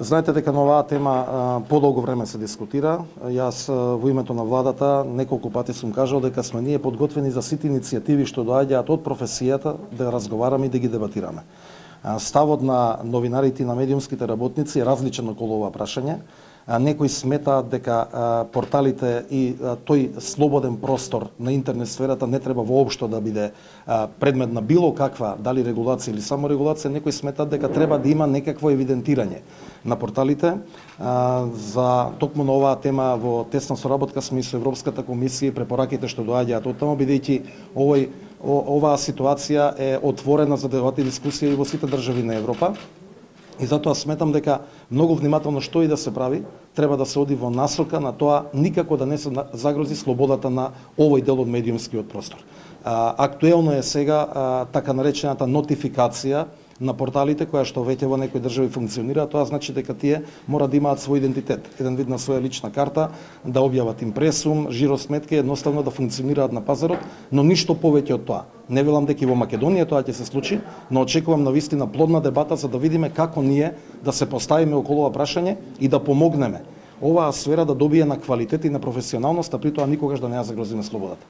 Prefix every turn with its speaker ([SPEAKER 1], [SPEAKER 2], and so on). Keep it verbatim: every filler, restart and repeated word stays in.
[SPEAKER 1] Знаете дека на оваа тема подолго време се дискутира. Јас во името на владата неколку пати сум кажал дека сме ние подготвени за сите иницијативи што доаѓаат од професијата да разговараме и да ги дебатираме. Ставот на новинарите и на медиумските работници е различен околу ова прашање. Некои сметаат дека порталите и тој слободен простор на интернет сферата не треба воопшто да биде предмет на било каква, дали регулација или само регулација. Некои сметаат дека треба да има некакво евидентирање на порталите. За токму на оваа тема во тесна соработка сме и со Европската комисија и препораките што доаѓаат од таму, бидејќи овој оваа ситуација е отворена за дебат и дискусија и во сите држави на Европа. И затоа сметам дека многу внимателно што и да се прави, треба да се оди во насока на тоа никако да не се загрози слободата на овој дел од медиумскиот простор. Актуелно е сега така наречената нотификација на порталите, која што веќе во некои држави функционира. Тоа значи дека тие мора да имаат свој идентитет, еден вид на своја лична карта, да објават импресум, жиросметки, едноставно да функционираат на пазарот, но ништо повеќе од тоа. Не велам дека и во Македонија тоа ќе се случи, но очекувам навистина плодна дебата за да видиме како ние да се поставиме околу ова прашање и да помогнеме оваа сфера да добие на квалитет и на професионалност, а при тоа никогаш да не ја загрозиме слободата.